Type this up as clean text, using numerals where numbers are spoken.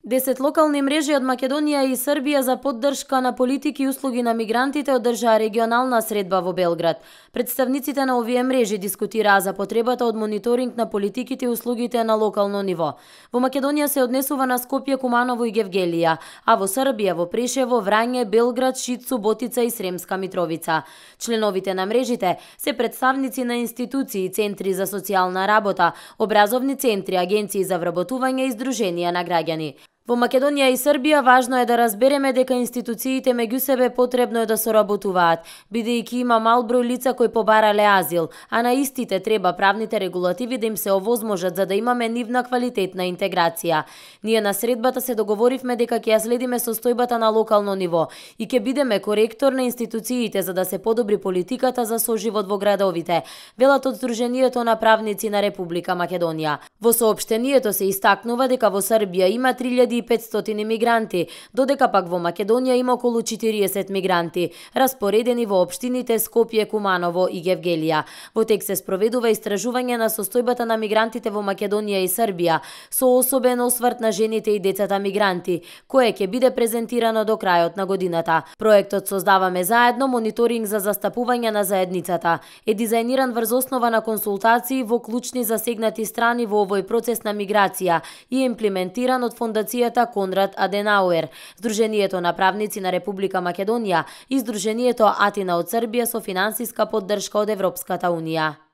10 локални мрежи од Македонија и Србија за поддршка на политики и услуги на мигрантите одржаа регионална средба во Белград. Представниците на овие мрежи дискутираа за потребата од мониторинг на политиките и услугите на локално ниво. Во Македонија се однесува на Скопје, Куманово и Гевгелија, а во Србија во Прешево, Врање, Белград, Шицу, Ботица и Сремска Митровица. Членовите на мрежите се представници на институции, центри за социјална работа, образовни центри, агенции за вработување и здруженија на граѓани. Во Македонија и Србија важно е да разбереме дека институциите меѓу себе потребно е да соработуваат, бидејќи има мал број лица кои побарале азил, а на истите треба правните регулативи да им се овозможат за да имаме нивна квалитетна интеграција. Ние на средбата се договоривме дека ќе ја следиме состојбата на локално ниво и ќе бидеме коректор на институциите за да се подобри политиката за соживот во градовите, велат од Сдруженијето на правници на Република Македонија. Во соопштението се истакнува дека во Србија има 3500 мигранти, додека пак во Македонија има околу 40 мигранти, распоредени во општините Скопје, Куманово и Гевгелија. Во тек се спроведува истражување на состојбата на мигрантите во Македонија и Србија, со особен осврт на жените и децата мигранти, кое ќе биде презентирано до крајот на годината. Проектот Создаваме заедно мониторинг за застапување на заедницата е дизајниран врз основа на консултации во клучни засегнати страни во овој процес на миграција и имплементиран од фондацијата Конрад Аденауер, Сдруженијето на правници на Република Македонија и Сдруженијето Атина од Србија со финансиска поддршка од Европската унија.